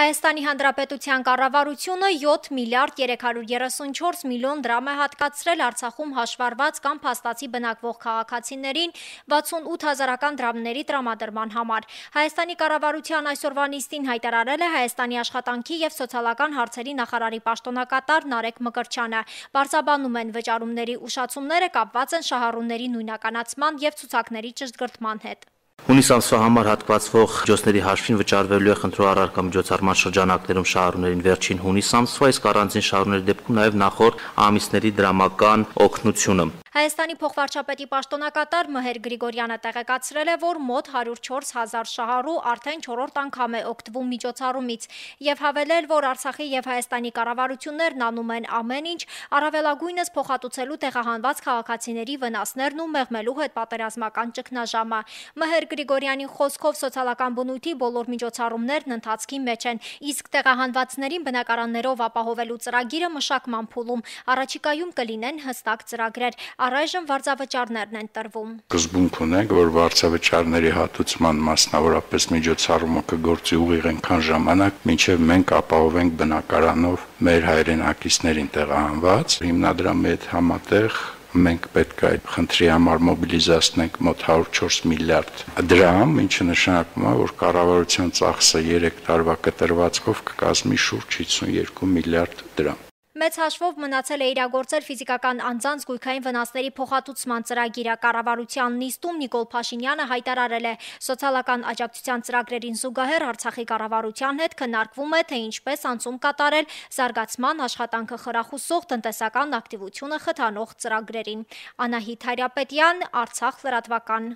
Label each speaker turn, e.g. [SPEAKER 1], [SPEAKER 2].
[SPEAKER 1] Հայաստանի Հանրապետության կառավարությունը 7 միլիարդ 334 միլիոն դրամ է հատկացրել Արցախում հաշվառված կամ փաստացի բնակվող քաղաքացիներին 68 հազարական դրամների տրամադրման համար։ Հայաստանի կառավարության այսօրվա նիստին հայտարարել է Հայաստանի աշխատանքի և սոցիալական հարցերի նախարարի պաշտոնակատար Նարեկ Մկրտչյանը։ Պարզաբանում են, վճարումների ուշացումները կապված են շահառուների նույնականացման և ցուցակների ճշտգրտման հետ։
[SPEAKER 2] Հունիս ամսվա համար հատկացվող միջոցների հաշվին վճարվելու է խնդրող առարկա միջոցառման շրջանակներում շահառուներին վերջին հունիս ամսվա, իսկ առանձին շահառուների դեպքում նաև նախորդ ամիսների դրամական օգնությունը։ Հայաստանի փոխվարչապետի պաշտոնակատար Մհեր Գրիգորյանը տեղեկացրել է, որ մոտ 104 հազար շահառու արդեն 4-րդ անգամ է օգտվում միջոցառումից և հավելել, որ Արցախի և Հայաստանի կառավարություններն անում են ամեն ինչ, առավելագույնս փոխհատուցելու տեղահանված քաղաքացիների վնասներն ու մեղմելու հետպատերազմական ճգնաժամը։ Մհեր Գրիգորյանի խոսքով սոցիալական բնույթի բոլոր միջոցառումներն ընթացքի մեջ են, իսկ տեղահանվածներին բնակարաններով ապահովելու ծրագիրը մշակման փուլում, առաջիկայում կլինեն հստակ ծրագրեր, առայժմ վարձավճարներն են տրվում։
[SPEAKER 3] Սկզբունք ունենք, որ վարձավճարների հատուցման մասնավորապես միջոցառումը կգործի ուղիղ այնքան ժամանակ, մինչև մենք ապահովենք բնակարանով մեր հայրենակիցներին տեղահանված, հիմնադրամի հետ համատեղ մենք պետք է այդ խնդրի համար մոբիլիզացնենք մոտ 104 միլիարդ դրամ, ինչը նշանակում է, որ կառավարության ծախսը 3 տարվա կտրվածքով կկազմի շուրջ 52 միլիարդ դրամ։
[SPEAKER 1] Մեծ հաշվով մնացել է իրագործել ֆիզիկական անձանց գույքային վնասների փոխհատուցման ծրագիրը։ Կառավարության նիստում Նիկոլ Փաշինյանը հայտարարել է, սոցիալական աջակցության ծրագրերին զուգահեռ Արցախի կառավարության հետ քննարկվում է, թե ինչպես անցում կատարել զարգացման, աշխատանքը խրախուսող տնտեսական ակտիվությունը խթանող ծրագրերին։ Անահիտ Հայրապետյան, Արցախ լրատվական։